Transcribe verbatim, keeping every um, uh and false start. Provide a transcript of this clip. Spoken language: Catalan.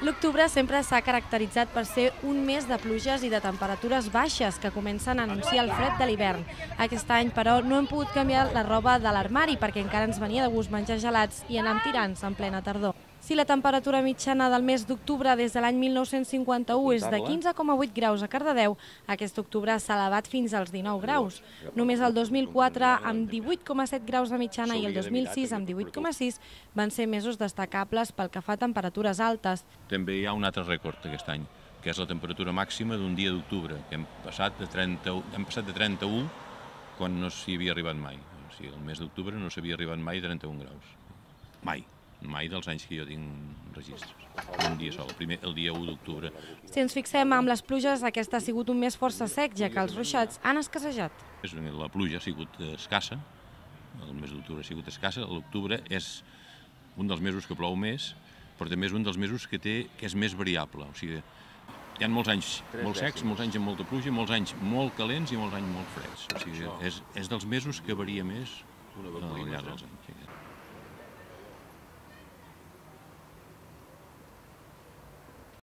L'octubre sempre s'ha caracteritzat per ser un mes de pluges i de temperatures baixes que comencen a anunciar el fred de l'hivern. Aquest any, però, no hem pogut canviar la roba de l'armari perquè encara ens venia de gust menjar gelats i anem tirants en plena tardor. Si la temperatura mitjana del mes d'octubre des de l'any mil nou-cents cinquanta-u és de quinze coma vuit graus a Cardedeu, aquest octubre s'ha elevat fins als dinou graus. Només el dos mil quatre, amb divuit coma set graus de mitjana, i el dos mil sis, amb divuit coma sis, van ser mesos destacables pel que fa a temperatures altes. També hi ha un altre rècord aquest any, que és la temperatura màxima d'un dia d'octubre, que hem passat de trenta, hem passat de trenta-u quan no s'hi havia arribat mai. O sigui, el mes d'octubre no s'havia arribat mai a trenta-un graus. Mai. Mai dels anys que jo tinc registres. Un dia sol, el, primer, el dia u d'octubre. Si ens fixem amb les pluges, aquest ha sigut un mes força sec, ja que els ruixats han escassejat. La pluja ha sigut escassa, el mes d'octubre ha sigut escassa, l'octubre és un dels mesos que plou més, però també és un dels mesos que, té, que és més variable. O sigui, hi ha molts anys molt secs, molts anys amb molta pluja, molts anys molt calents i molts anys molt freds. O sigui, és, és dels mesos que varia més al llarg dels anys.